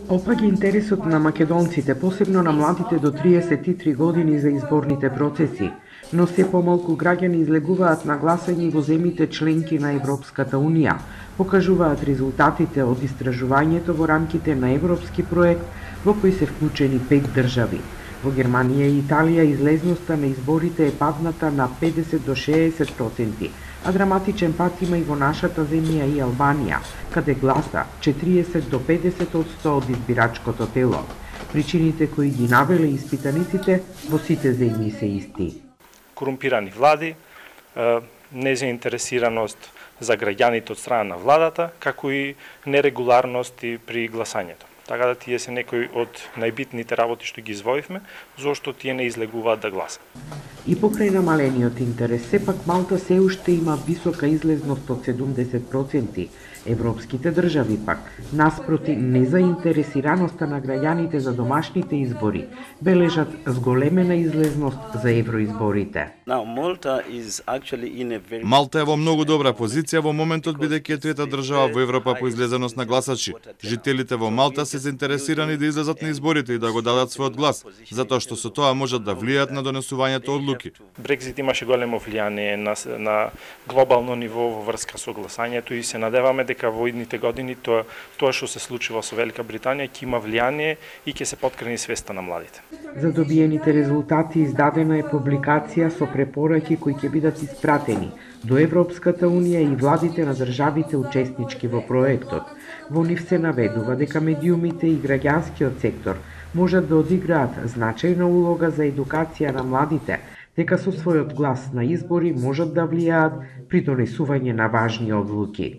Опаѓа интересот на македонците, посебно на младите до 33 години за изборните процеси, но се помалку граѓани излегуваат на гласање во земјите членки на Европската Унија, покажуваат резултатите од истражувањето во рамките на европски проект во кој се вклучени 5 држави. Во Германија и Италија излезноста на изборите е падната на 50 до 60%, а драматичен пат има и во нашата земја и Албанија, каде гласа 40 до 50% од избирачкото тело. Причините кои ги навеле испитаниците во сите земји се исти. Корумпирани влади, незаинтересираност за граѓаните од страна на владата, како и нерегуларности при гласањето. Така да тие се некои од најбитните работи што ги извоивме, зошто тие не излегуваат да гласат. И покрај намалениот интерес, сепак Малта се уште има висока излезност од 70%. Европските држави пак, наспроти незаинтересираноста на граѓаните за домашните избори, бележат зголемена излезност за евроизборите. Малта е во многу добра позиција во моментот бидејќи е трета држава во Европа по излезеност на гласачи. Жителите во Малта се заинтересирани да излезат на изборите и да го дадат својот глас, затоа што со тоа можат да влијаат на донесувањето одлуки. Брекзит имаше големо влијание на глобално ниво во врска со гласањето и се надеваме дека во идните години тоа што се случува со Велика Британија ќе има влијание и ќе се поткрени свеста на младите. За добиените резултати издадена е публикација со препораки кои ќе бидат испратени до Европската Унија и владите на државите учеснички во проектот. Во нив се наведува дека медиумите и граѓанскиот сектор можат да одиграат значајна улога за едукација на младите, дека со својот глас на избори можат да влијаат при донесување на важни одлуки.